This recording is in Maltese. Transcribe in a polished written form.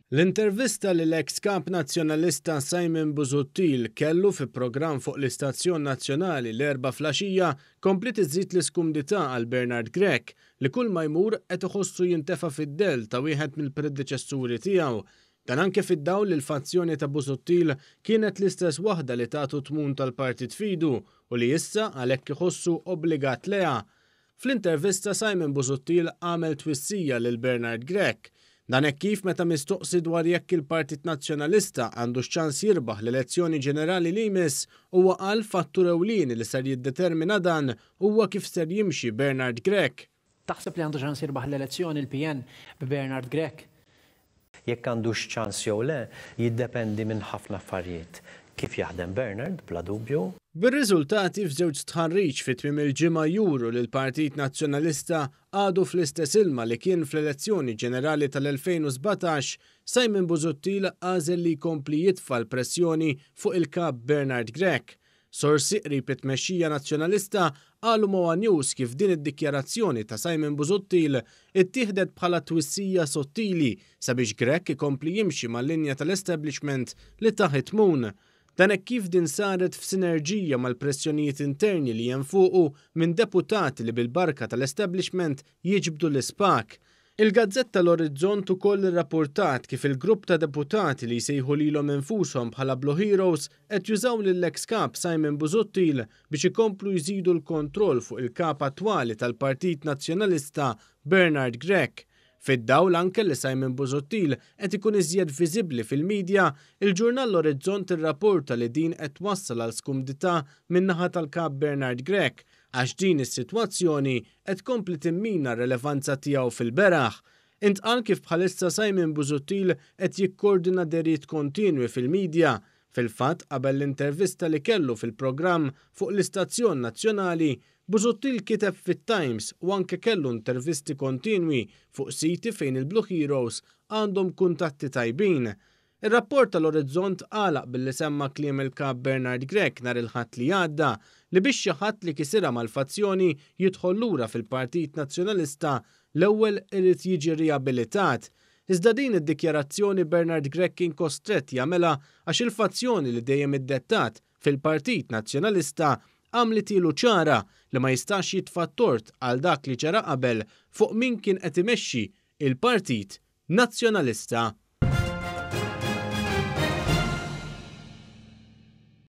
L-intervista li l-eks Kap Nazzjonalista Simon Busuttil kellu fi programm fuq l-istazzjon nazzjonali l-Erbgħa flaxija kompliet iżżid l-iskumdità għal Bernard Grech li kull ma jmur qed iħossu jintefa' fid-dell ta' wieħed mill-predeċessuri tiegħu. Dan anke fid-dawl li l-fazzjoni ta' Busuttil kienet l-istess waħda li tatu t-tmun tal-partit f'idu u li issa għalhekk iħossu obbligat lejha. Fl-intervista Simon Busuttil għamel twissija lil Bernard Grech. Dan hekk kif meta mistoqsi dwar jekk il-Partit Nazzjonalista għandux ċans jirbaħ l-elezzjoni ġenerali li jmiss, huwa qal fattur ewlieni li ser jiddetermina dan huwa kif ser jimxi Bernard Grech. Taħseb li għandu ċans jirbaħ l-elezzjoni l-PN b'Bernard Grech? Jekk għandux ċans jew le jiddependi minn ħafna affarijiet. Kif jaħdem Bernard, bla dubju. Bir-riżultati f'żewġ stħarriġ fi tmiem il-ġimgħa juru li l-Partit Nazzjonalista għadu fl-istess ilma li kien fl-elezzjoni ġenerali tal-2017, Simon Busuttil għażel li jkompli jitfa' l-pressjoni fuq il-Kap Bernard Grech. Sorsi qrib it-tmexxija Nazzjonalista qalu ma' one News kif din id-dikjarazzjoni ta' Simon Busuttil ittieħdet bħala twissija sottili sabiex Grech ikompli jimxi mal-linja tal-establishment li tah it-tmun. Dan hekk kif din saret f'sinerġija mal-pressjonijiet interni li hemm fuqu minn deputati li bil-barka tal-establishment jiġbdu l-ispak. Il-gazzetta L-Orizzont ukoll irrappurtat kif il-grupp ta' deputati li jsejħu lilhom infushom bħala Blue Heroes qed jużaw lill-eks Kap Simon Busuttil biex ikomplu jżidu l-kontroll fuq il-Kap attwali tal-Partit Nazzjonalista Bernard Grech. Fid-dawl anke li Simon Busuttil qed ikun iżjed viżibbli fil-media, il-ġurnal L-Orizzont irrapporta li din qed twassal għal skumdità min-naħa tal-Kap Bernard Grech għax din is-sitwazzjoni qed tkompli timmina r-relevanza tiegħu fil-beraħ. Intqal kif bħalissa Simon Busuttil qed jikkordina dehriet kontinwi fil-media. Fil-fatt, qabel l-intervista li kellu fil-programm fuq l-istazzjon nazzjonali, Busuttil kiteb fit-Times u anke kellu intervisti kontinwi fuq siti fejn il-Blue Heroes għandhom kuntatti tajbin. Ir-rapport tal-Orizzont għalaq billi semma kliem il-Kap Bernard Grech nhar il-Ħadd li għadda li biex xi ħadd li kisirha mal-fazzjoni jidħol lura fil-Partit Nazzjonalista l-ewwel irid jiġi riabilitat. Iżda din id-dikjarazzjoni Bernard Grech kien kostrett jagħmilha għax il-fazzjoni li dejjem iddettat fil-Partit Nazzjonalista għamlitilu ċara li ma jistax jitfa' t-tort għal dak li ġara qabel fuq min kien qed imexxi il-Partit Nazzjonalista.